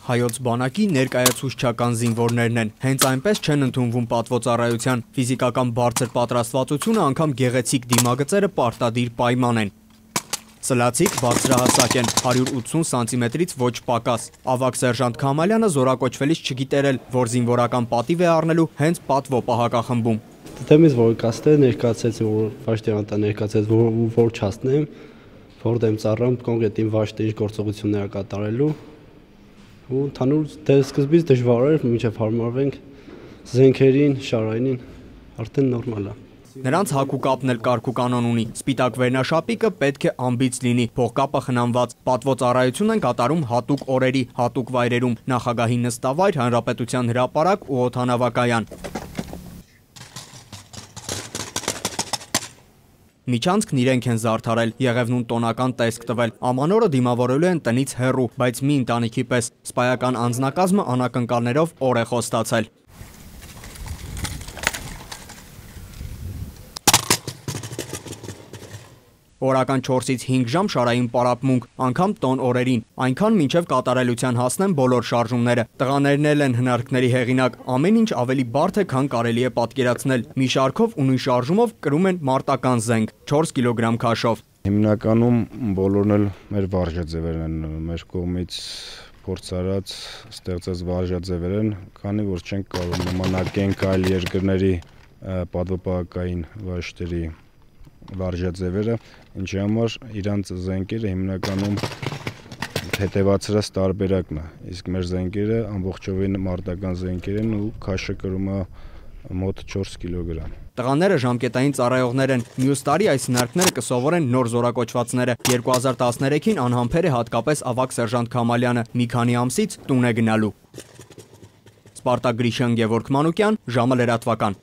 հայոց բանակի ներկայացուցչական զինվորներն են, հենց այնպես չեն ընդունվում պատվոծառայության, ֆիզիկական բարձր պատրաստվածությունը անգամ գեղեցիկ դիմագծերը պարտադիր պայման են։ Սլացիկ բարձրահասակ են, 180 սանտիմետրից ոչ պակաս։ Ավագ սերժանտ Քամալյանը զորակոչվելիս չգիտեր էլ, որ զինվորական պատիվ է առնելու հենց պատվո պահակախմբում։ Դեմից որ կաստե ներկայացեց, որ վաշտերանտա ներկայացեց, որ չասնեմ, որ դեմ ծառամ կոնկրետ իմ վաշտի գործողությունները կատարելու ու ընդհանուր սկզբից դժվար էր, մինչև հարմարվենք զենքերին, շարայինին, արդեն նորմալ է։ Նրանց հագուկապն էլ կարգ ու կանոն ունի, սպիտակ վերնաշապիկը պետք է ամբից լինի, փողկապը խնամված, պատվոծառայություն են կատարում հատուկ օրերի, հատուկ վայրերում, նախագահի նստավայր, հանրապետության հրապարակ ու օդանավակայան։ Միջանցքն իրենք են զարդարել, Եղևնուն տոնական տեսք տվել, ամանորը դիմավորելու են տնից հեռու, բայց մի ընտանիքի պես, սպայական անձնակազմը անակնկալներով օր է խոստացել։ Օրական 4-ից 5 ժամ շարային պարապմունք, անգամ տոն օրերին, այնքան մինչև կատարելության հասնեն բոլոր շարժումները։ Տղաներն էլ են հնարքների հեղինակ, ամեն ինչ ավելի բարդ է, քան կարելի է պատկերացնել։ Մի շարքով ու նույն շարժումով կրում են մարտական զենք, 4 կիլոգրամ քաշով։ Հիմնականում բոլորն էլ մեր վարժաձևերն են, մեր կողմից փորձարած ստեղծած վարժաձևեր են, քանի որ չենք կարող նմանակենք այլ երկրների պատվոպահակային վաշտերի վարժաձևերը, ինչի համար իրանց զենքերը հիմնականում հետևացրած տարբերակն է, իսկ մեր զենքերը ամբողջովին մարտական զենքեր են ու քաշը կրում է մոտ 4 կիլոգրամ։ Տղաները ժամկետային ծառայողներ են, մյուս տարի այս հնարքները կսովորեն նոր զորակոչվածները, 2013-ին անհամբեր է հատկապես ավագ սերժանտ Քամալյանը, մի քանի ամսից տուն է գնալու։ Սպարտակ Գրիշյան, Գևորգ Մանուկյան, ժամը լրատվական։